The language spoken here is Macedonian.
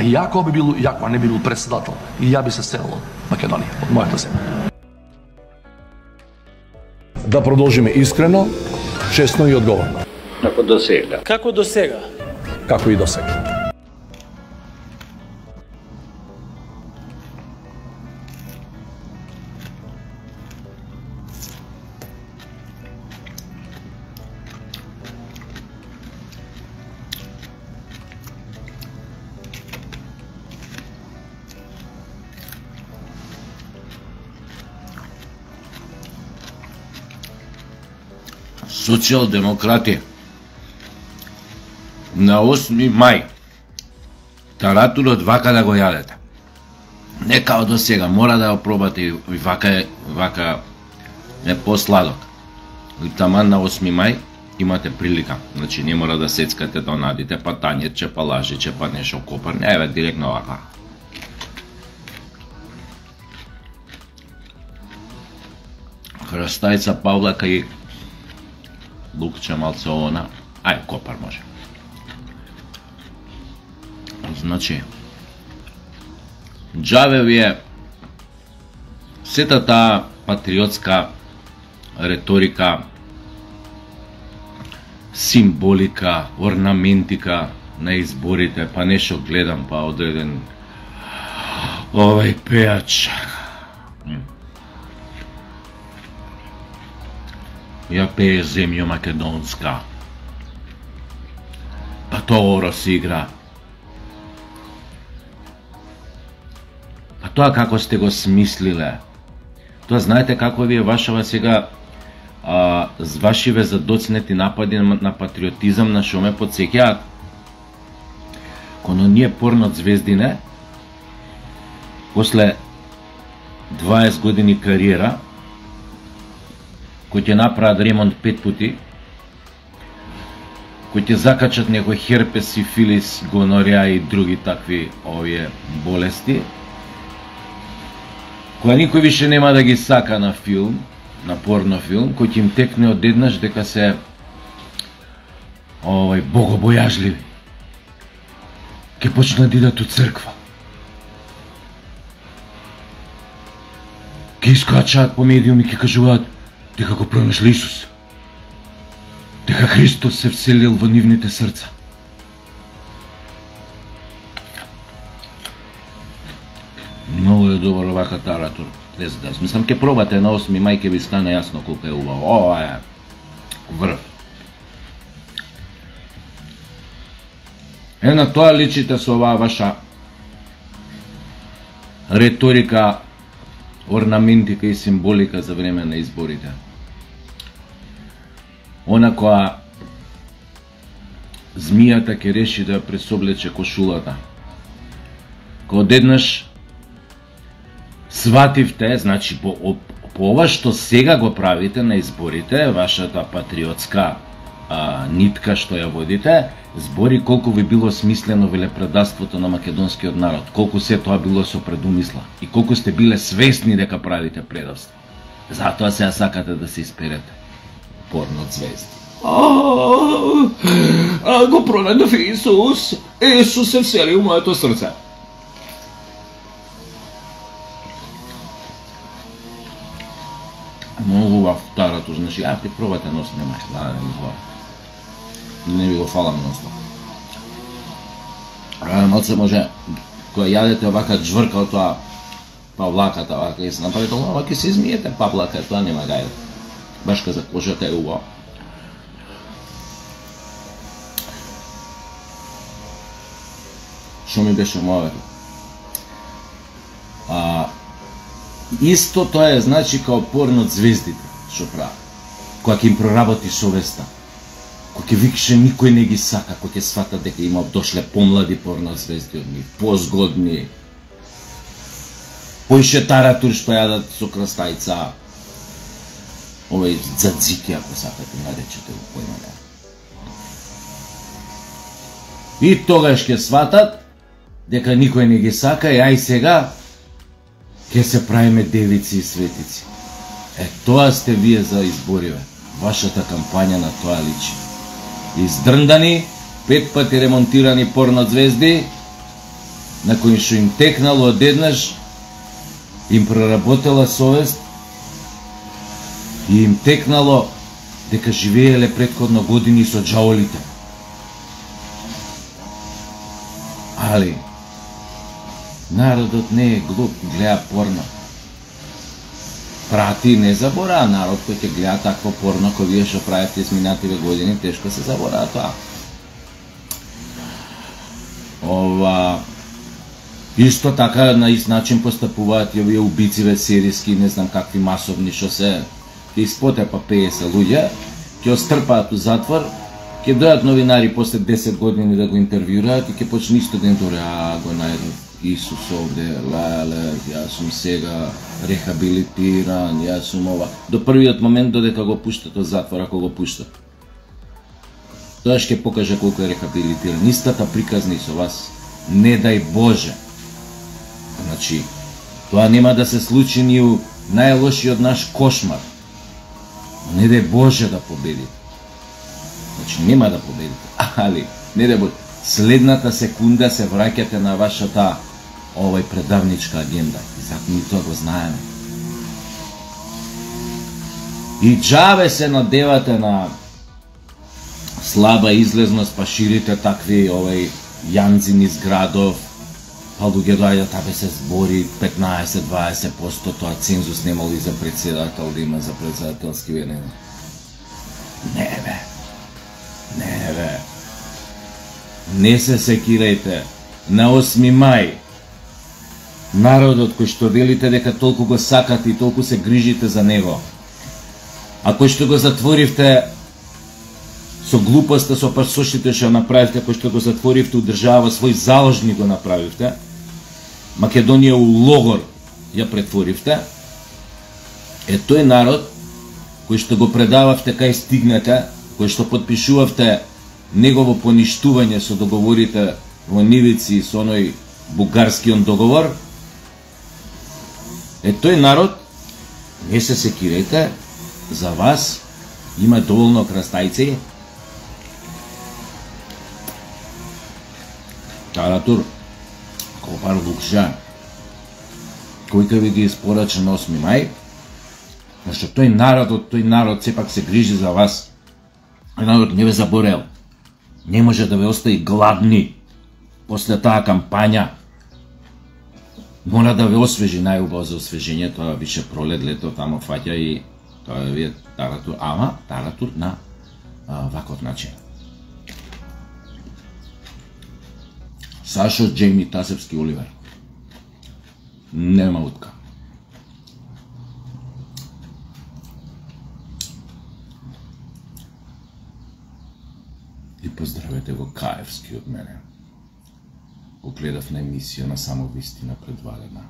и ако не би бил председател, и ја би се селил од Македонија, од мојата земја. Да продолжиме искрено, честно и одговорно. Како до сега. Како до сега. Како и до сега. Социјалдемократи на 8 мај таратурот вака да го јадете. Не као до сега, мора да го пробате и вака е посладок. И таман на 8 мај имате прилика. Значи не мора да сецкате да надите па тањече, па лажиче, па нешто копар. Не, еве директно вака. Храстајца, павлака и лукче малце она, ај копар може. Значи, џаве ви е сета таа патриотска реторика, символика, орнаментика на изборите, па нешто гледам, па одреден овај пејач. Ја пее земјо македонска. Па тоа оро се игра. Па тоа како сте го смислиле. Тоа знаете како ви е вашава сега вашиве задоцнети напади на патриотизам на шо ме подсеќаат. Коно ние порно звездине, после 20 години кариера, кој ќе направат ремонт 5 пути, кој ќе закачат некој херпес, сифилис, гонореа и други такви овие болести, која никој више нема да ги сака на филм, на порно филм, кој ќе им текне одеднаш дека се богобојажливи. Ќе почнат да идат у црква. Ќе искачаат по медиуми, ќе кажуваат дека го пронашли Исус, дека Христос се вселил во нивните срца. Многу е добро вака таратур. Мислам, ке пробате на 8 мај, ке ви стане јасно колко е убаво. Ова е врв. На тоа личите со оваа ваша реторика, орнаментика и символика за време на изборите. Она која змијата ќе реши да ја пресоблече кошулата. Кога одеднаш свативте, значи по ова што сега го правите на изборите, вашата патриотска нитка што ја водите, збори колку ви било смислено велепредавството на македонскиот народ, колку се тоа било со предумисла и колку сте биле свесни дека правите предавство. Затоа сега сакате да се исперете. Порно звезди. Го пронајдов Исус. Исус се всели у моето срце. Многу убав таратур, значи, ти пробате нос, немај, не ви го фалам носно. Малце може, кога јадете вака джврка од тоа павлаката, вака и се направите, ова ќе се измиете павлака, тоа нема гајде. Башка за кожата е убаво. Шо ми беше моето? Исто тоа е, значи, као порно од звездите, што прави. Кога ќе им проработи совеста, кога ќе викше никој не ги сака, кога ќе свата дека има дошле помлади порно звезди од нив, позгодни, поише таратур што јадат со крастајца, овој дзадзики, ако сакате наречете го поимане. И тогаш ќе сватат дека никој не ги сака и ај сега ќе се правиме девици и светици. Тоа сте вие за избориве. Вашата кампања на тоа личи. Издрндани, 5 пати ремонтирани порно звезди, на кои што им текнало одеднаш, им проработела совест и им текнало дека живееле претходно години со џаолите. Али, народот не е глуп, гледа порно. Прати, не заборава народ кој ќе гледа такво порно кој вие што правите изминативе години, тешко се заборава тоа. Исто така на ист начин постапуваат и овие убициве серијски, не знам какви масовни што се, ќе испотепа 50 луѓе, ќе острпаат у затвор, ќе дојдат новинари после 10 години да го интервјураат и ќе почне исто ден торе, го најдов Исус овде, леле, јас сум сега рехабилитиран, јас сум ова. До првиот момент додека го пуштат од затвор, ако го пуштат. Тоа ќе покаже колку е рехабилитиран. Истата приказна и со вас. Не дај Боже. Значи, тоа нема да се случи ни у најлошиот наш кошмар. Не дај Боже да победите. Значи, нема да победите. Али, не дај Боже. Следната секунда се враќате на вашата предавничка агенда. И затоа ние тоа го знаеме. И џабе се надевате на слаба излезност, па ширите такви јанци низ градов, па луѓе доаѓаат, абе се збори 15-20%, тоа цензус немало и за председател да има, за председателски венен. Не бе. Не се секирајте. На 8 мај народот кој што велите дека толку го сакате и толку се грижите за него, а кој што го затворивте со глупоста, со пасошите што направивте, кој што го затворивте у држава, свој заложник го направивте, Македонија у логор ја претворивте, е тој народ кој што го предававте кај стигнете, кој што подпишувавте негово поништување со договорите во Нивици и со оној бугарскиот договор, е тој народ, не се секирајте, за вас има доволно крастајци. Таратур, Копар Лукжа, кој ќе ви ги испорача на 8 мај, зашто тој народ сепак се грижи за вас. Тој народ не ве заборел. Не може да ве остави гладни после таа кампања. Мора да ве освежи, најубаво за освежење, тоа више пролет, лето, тамо фаќа и тоа вие таратур, ама таратур на ваков начин. Сашо Джейми Тасевски Оливер. Нема утка. И поздравете го Каевски од мене. Го гледав на емисија на Само вистина предварена.